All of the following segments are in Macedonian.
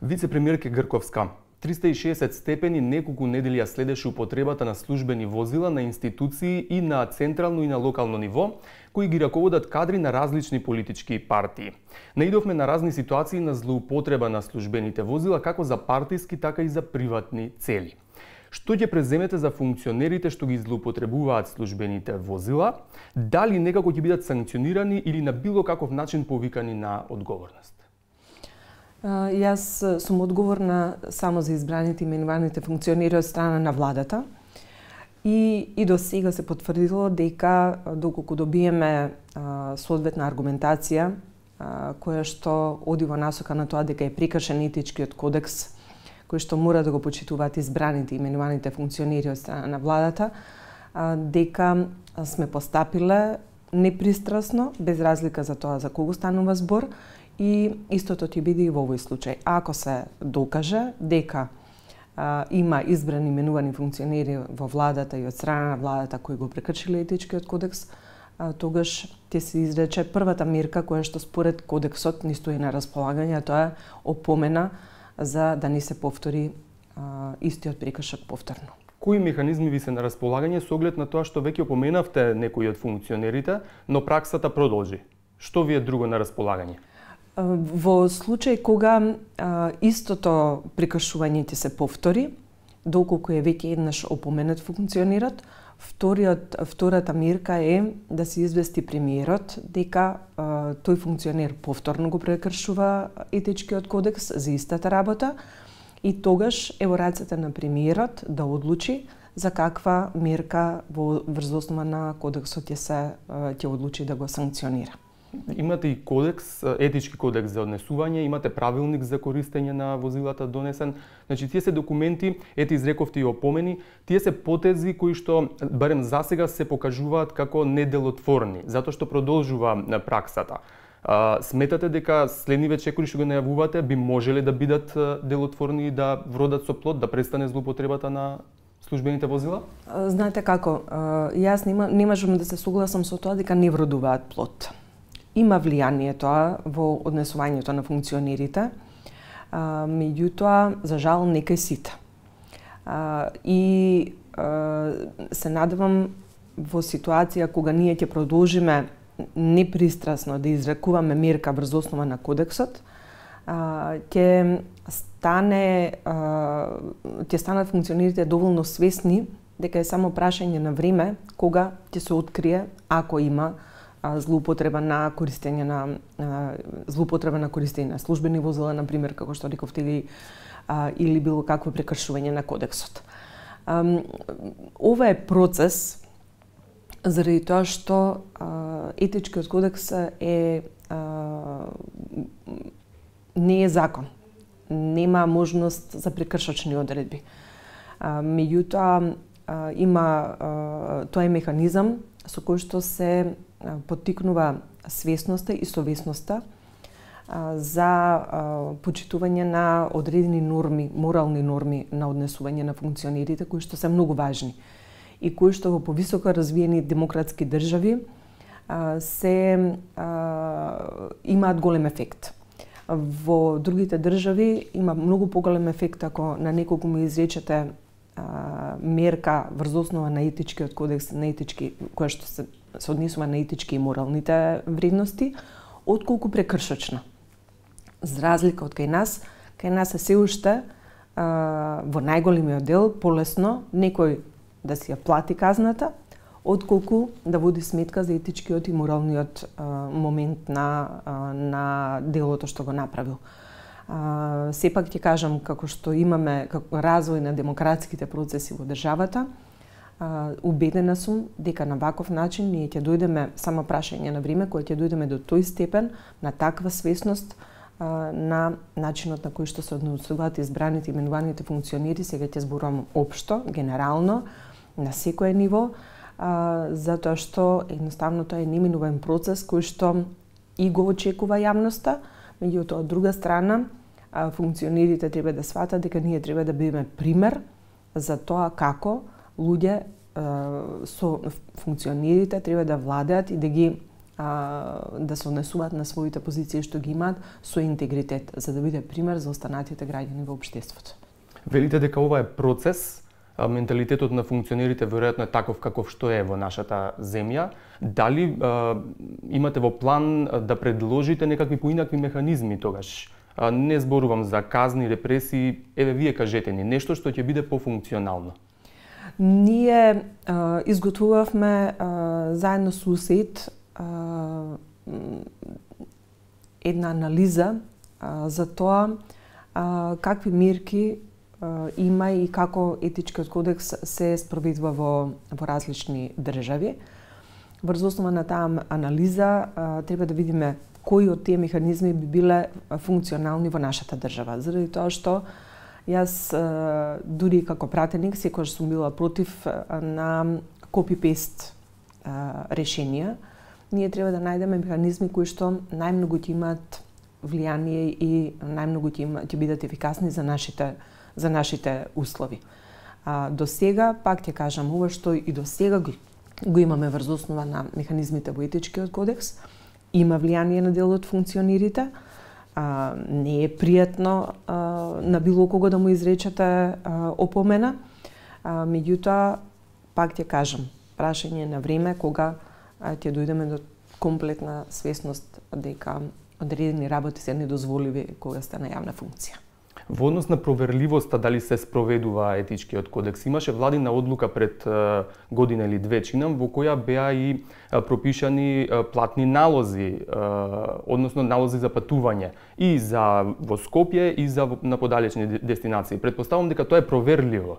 Вице-премиерке Грковска, 360 степени неколку недели ја следеше употребата на службени возила на институции и на централно и на локално ниво, кои ги раководат кадри на различни политички партии. Наидовме на разни ситуации на злоупотреба на службените возила, како за партиски, така и за приватни цели. Што ќе преземете за функционерите што ги злоупотребуваат службените возила? Дали некако ќе бидат санкционирани или на било каков начин повикани на одговорност? Јас сум одговорна само за избраните именуваните функционери од страна на владата и до сега се потврдило дека доколку добиеме соодветна аргументација која што оди во насока на тоа дека е прекршен етичкиот кодекс кој што мора да го почитуваат избраните именуваните функционери од страна на владата, дека сме постапиле непристрасно, без разлика за тоа за кого станува збор, и истото ќе биде и во овој случај. Ако се докаже дека има избрани именувани функционери во владата и од страна на владата кои го прекршиле етичкиот кодекс, тогаш ќе се изрече првата мерка која што според кодексот ни стои на располагање, тоа е опомена за да не се повтори истиот прекршок повторно. Кои механизми ви се на располагање со оглед на тоа што веќе опоменавте некои од функционерите, но праксата продолжи? Што ви е друго на располагање? Во случај кога истото прекршување ќе се повтори, доколку е веќе еднаш опоменат функционерот, втората мерка е да се извести премиерот дека тој функционер повторно го прекршува етичкиот кодекс за истата работа и тогаш е во рацете на премиерот да одлучи за каква мерка врз основа на кодексот ќе одлучи да го санкционира. Имате и кодекс, етички кодекс за однесување, имате правилник за користење на возилата донесен. Значи, тие се документи, ете изрековте и опомени, тие се потези кои што, барем засега, се покажуваат како неделотворни, затоа што продолжува праксата. Сметате дека следниве чекори што го најавувате би можеле да бидат делотворни и да вродат со плод, да престане злоупотребата на службените возила? Знаете како, јас не можам да се согласам со тоа дека не вродуваат плод. Има влијание тоа во однесувањето на функционерите, меѓутоа, за жал, не кај сите. И се надевам во ситуација кога ние ќе продолжиме непристрасно да изрекуваме мерка врз основа на кодексот, ќе станат функционерите доволно свесни дека е само прашање на време кога ќе се открие ако има злоупотреба на користење на службени возила, на пример, како што рековте, или било какво прекршување на кодексот. Ова е процес заради тоа што етичкиот кодекс не е закон. Нема можност за прекршочни одредби. Меѓутоа, тоа е механизам со кој што се поттикнува свесноста и совесноста за почитување на одредени норми, морални норми на однесување на функционерите кои што се многу важни и кои што во повисоко развиени демократски држави имаат голем ефект. Во другите држави има многу поголем ефект ако на неколку му изречете мерка врз основа на етичкиот кодекс, која што се однесува на етички и моралните вредности, отколку прекршочна. За разлика од кај нас е се уште во најголемиот дел полесно некој да си ја плати казната, отколку да води сметка за етичкиот и моралниот момент на делото што го направил. Сепак ќе кажам, како што имаме развој на демократските процеси во државата, убедена сум дека на ваков начин ние ќе дојдеме, само прашање на време, кога ќе дојдеме до тој степен на таква свесност на начинот на кој што се однесуваат избраните именуваните функционери, сега ќе зборувам општо, генерално, на секое ниво, затоа што едноставно тоа е неминуван процес кој што и го очекува јавноста, меѓутоа од друга страна функционерите треба да сватат дека ние треба да бидеме пример за тоа како луѓе со функционерите треба да владеат и да ги да се однесуваат на своите позиции што ги имаат со интегритет, за да биде пример за останатите граѓани во општеството. Велите дека ова е процес, менталитетот на функционерите веројатно е таков каков што е во нашата земја. Дали имате во план да предложите некакви поинакви механизми тогаш? Не зборувам за казни, репресии, еве вие кажете ни нешто што ќе биде пофункционално. Ние изготвувавме заедно со УСАИД една анализа за тоа какви мерки има и како етичкиот кодекс се спроведува во различни држави. Врз основа на таа анализа треба да видиме кои од тие механизми би биле функционални во нашата држава. Заради тоа што јас дури како пратеник секогаш сум била против на копи-пест решенија. Ние треба да најдеме механизми кои што најмногу ќе имаат влијание и најмногу ќе бидат ефикасни за нашите услови. До сега, пак ќе кажам, ова што и до сега го имаме врз основа на механизмите во етичкиот кодекс, има влијание на дел од функционерите. Не е пријатно на било кого да му изречете опомена. Меѓутоа, пак ќе кажам, прашање на време кога ќе дојдеме до комплетна свесност дека одредени работи се недозволиви кога сте на јавна функција. Во однос на проверливоста дали се спроведува етичкиот кодекс, имаше владина одлука пред година или две чинам во која беа и пропишани платни налози, односно налози за патување и за во Скопје и за на подалечни дестинации. Претпоставувам дека тоа е проверливо,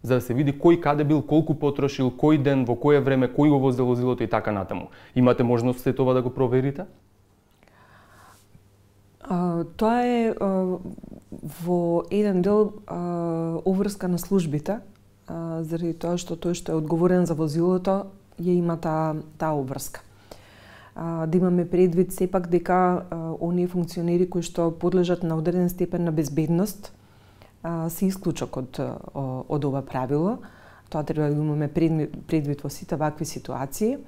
за да се види кој каде бил, колку потрошил, кој ден, во кое време, кој го возел возилото и така натаму. Имате можност се тоа да го проверите? Тоа е во еден дел обврска на службите, заради тоа што тој што е одговорен за возилото ја има таа обврска. Да имаме предвид сепак дека оние функционери кои што подлежат на одреден степен на безбедност се исклучок од ова правило. Тоа треба да имаме предвид во сите вакви ситуации.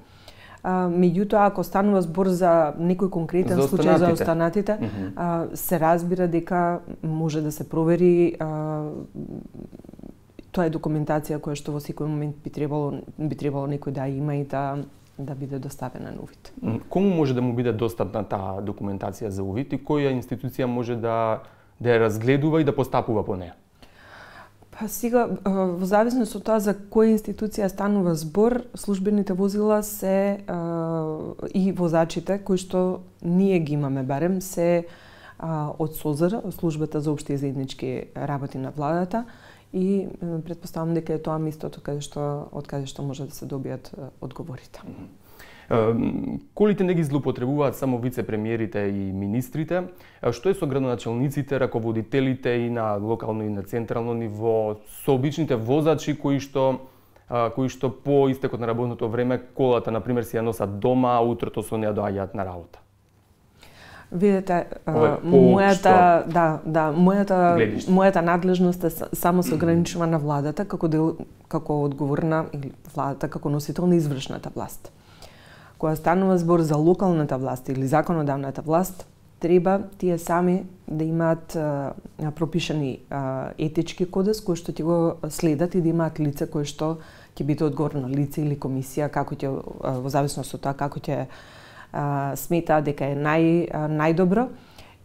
Меѓутоа, ако станува збор за некој конкретен случај за останатите, се разбира дека може да се провери. Тоа е документација која што во секој момент би требало некој да има и да биде доставена на увид. Кому може да му биде достапна таа документација за увид и која институција може да ја разгледува и да постапува по неја? Па сега, во зависност од тоа за која институција станува збор, службените возила се и возачите кои што ние ги имаме барем се од СОЗР, службата за општи и заеднички работи на владата, и претпоставам дека е тоа местото од каде што може да се добијат одговорите. Колите не ги злоупотребуваат само вице-премиерите и министрите, што е со градоначалниците, раководителите и на локално и на централно ниво, со обичните возачи кои што по истекот на работното време колата на пример си ја носат дома, а утрото со неа доаѓаат на работа? Видете, мојата надлежност е само се ограничува на владата како одговорна или владата како носител на извршната власт. Кога станува збор за локалната власт или законодавната власт, треба тие сами да имаат пропишани етички кодекс кои што ќе го следат и да имаат лице кои што ќе биде одговорно лице или комисија, како ќе во зависност од тоа како ќе сметаат дека е најдобро,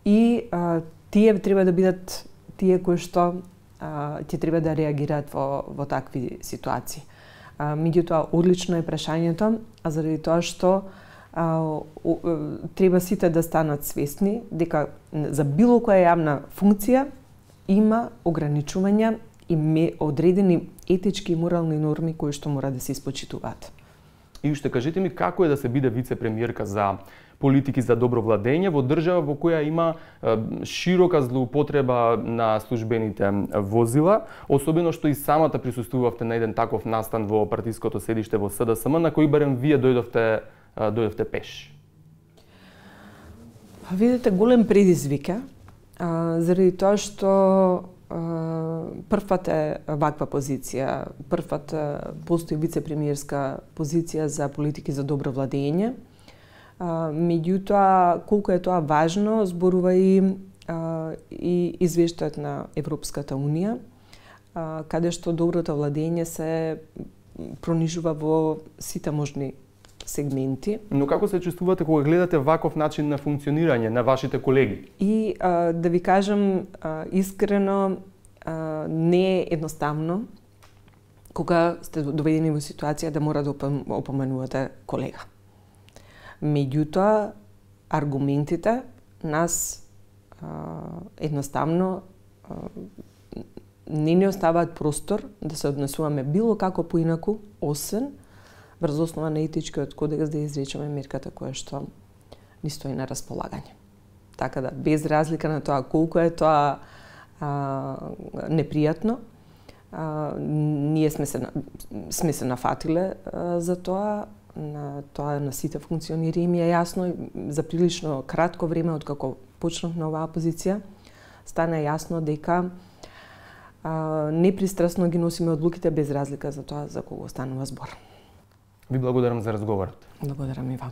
и тие треба да бидат тие кои што ќе треба да реагираат во такви ситуации. Меѓутоа, одлично е прашањето, заради тоа што треба сите да станат свесни дека за било која јавна функција има ограничувања и одредени етички и морални норми кои што мора да се испочитуваат. И уште кажете ми како е да се биде вице-премиерка за политики за добро владење во држава во која има широка злоупотреба на службените возила, особено што и самата присуствувавте на еден таков настан во партиското седиште во СДСМ, на кој барем вие дојдовте пеш. Видите, голем предизвик е, заради тоа што првпат е ваква позиција, првпат постои вице-премиерска позиција за политики за добро владење. Меѓутоа, колку е тоа важно, зборува и извештајот на Европската Унија, каде што доброто владење се пронижува во сите можни сегменти. Но како се чувствувате кога гледате ваков начин на функционирање на вашите колеги? И да ви кажам искрено, не е едноставно кога сте доведени во ситуација да мора да опоменувате колега. Меѓутоа, аргументите нас едноставно не ни оставаат простор да се однесуваме било како поинаку, освен врз основа на етичкиот кодекс да изречеме мерката која што ни стои на располагање. Така да, без разлика на тоа колку е тоа непријатно, ние сме се нафатиле за тоа, на сите функционери им е јасно, за прилично кратко време откако почнав на оваа позиција, стана јасно дека непристрасно ги носиме одлуките без разлика за тоа за кого станува збор. Ви благодарам за разговорот. Благодарам и вам.